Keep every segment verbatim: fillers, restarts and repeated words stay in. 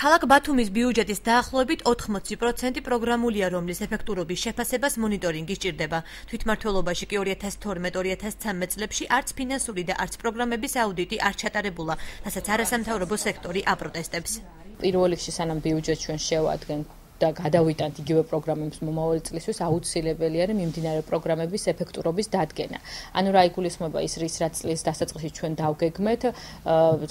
ქალაქ ბათუმის ბიუჯეტის დაახლოებით ოთხმოცი პროცენტი პროგრამულია, რომლის ეფექტურობის შეფასებას მონიტორინგი სჭირდება. თვითმმართველობაში კი ორი ათას თორმეტ ორი ათას ცხრამეტ წლებში არც ფინანსური და არც პროგრამების აუდიტი არ ჩატარებულა, რასაც არასამთავრობო სექტორი აპროტესტებს. პირველ რიგში სანამ ბიუჯეტს ჩვენ შევადგენთ და გადავიტანთ იგივე პროგრამებს მომავალი წლისთვის, აუცილებელი არის მიმდინარე პროგრამების ეფექტურობის დადგენა. ანუ რა იგულისხმება ის რის რაც წლის დასაწყისში ჩვენ დავგეგმეთ,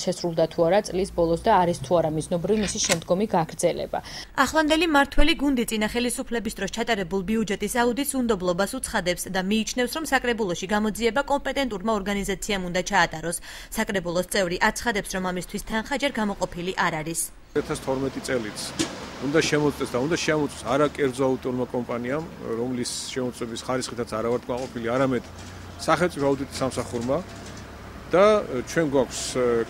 შესრულდა თუ არა წლის ბოლოს და არის თუ არა მიზნობრივი მისი შემდგომი გაგრძელება. ახლანდელი მმართველი გუნდი წინა ხელისუფლების დროს ჩატარებულ ბიუჯეტის აუდიტს უნდობლობას უცხადებს და მიიჩნევს, რომ საკრებულოში გამოძიება კომპეტენტურმა ორგანიზაციამ უნდა ჩაატაროს. საკრებულოს წევრი აცხადებს, რომ ამისთვის თანხა ჯერ გამოყოფილი არ არის. ორი ათას თორმეტი წელიც უნდა შემოწმდეს და უნდა შემოწმოს არა კერძო აუდიტორმა კომპანიამ, რომლის შემოწმების ხარისხითაც არა ვართ კმაყოფილი, არამედ სახელმწიფო აუდიტის სამსახურმა და ჩვენ გვაქვს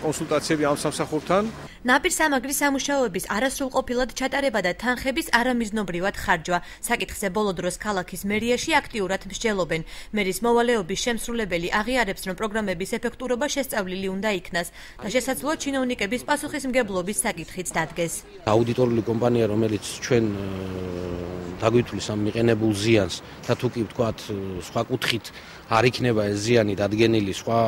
კონსულტაციები ამ სამსახურთან. ნაპირსამაგრის სამუშაოების არასრულყოფილად ჩატარება და თანხების არამიზნობრივად ხარჯვა. საკითხზე ბოლო დროს ქალაქის მერიაში აქტიურად მსჯელობენ. მერის მოვალეობის შემსრულებელი აღიარებს, რომ პროგრამების ეფექტურობა შესწავლილი უნდა იქნას და შესაძლოა ჩინოვნიკების პასუხისმგებლობის საკითხიც დადგეს. აუდიტორული კომპანია, რომელიც ჩვენ დაგვითვლის ამ მიყენებულ ზიანს და თუ კი ვთქვათ სხვა კუთხით არ იქნება ეს ზიანი დადგენილი სხვა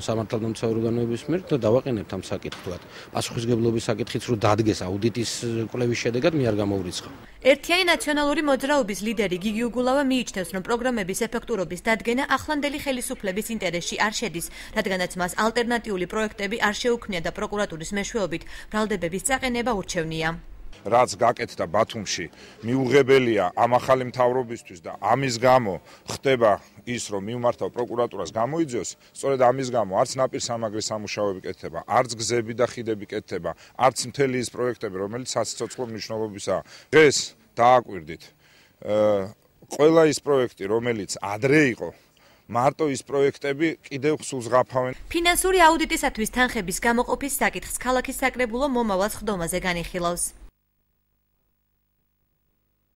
სამართალდამცავი ორგანოების მიერ და დავაყენებთ ამ საკითხს ვთქვათ. პასუხისმგებლობის საკითხიც რო დადგეს აუდიტის კვლევის შედეგად მე არ გამოვრიცხავ. ერთიანი ნაციონალური მოძრაობის ლიდერი გიგი უგულავა მიიჩნევს, რომ პროგრამების ეფექტურობის დადგენა ახლანდელი ხელისუფლების ინტერესში არ შედის, რადგანაც მას ალტერნატიული პროექტები არ შეუქმნია და პროკურატურის მეშვეობით ბრალდებების წაყენება ურჩევნია. რაც გაკეთდა ბათუმში, მიუღებელია ამ ახალი მთავრობისთვის და ამის გამო ხდება ის, რომ მიმართავ პროკურატურას გამოიძიოს, სწორედ ამის გამო არც ნაპირსამაგრის სამუშაოები კეთდება, არც გზები და ხიდები კეთდება, არც მთელი ის პროექტები, რომელიც საციცოცხლო მნიშვნელობისაა. დღეს დააკვირდით, ყველა ის პროექტი, რომელიც ადრე იყო, მარტო ის პროექტები კიდევ სულს ღაფავენ. ფინანსური აუდიტისათვის თანხების გამოყოფის საკითხს ქალაქის საკრებულო მომავალ სხდომაზე განიხილავს.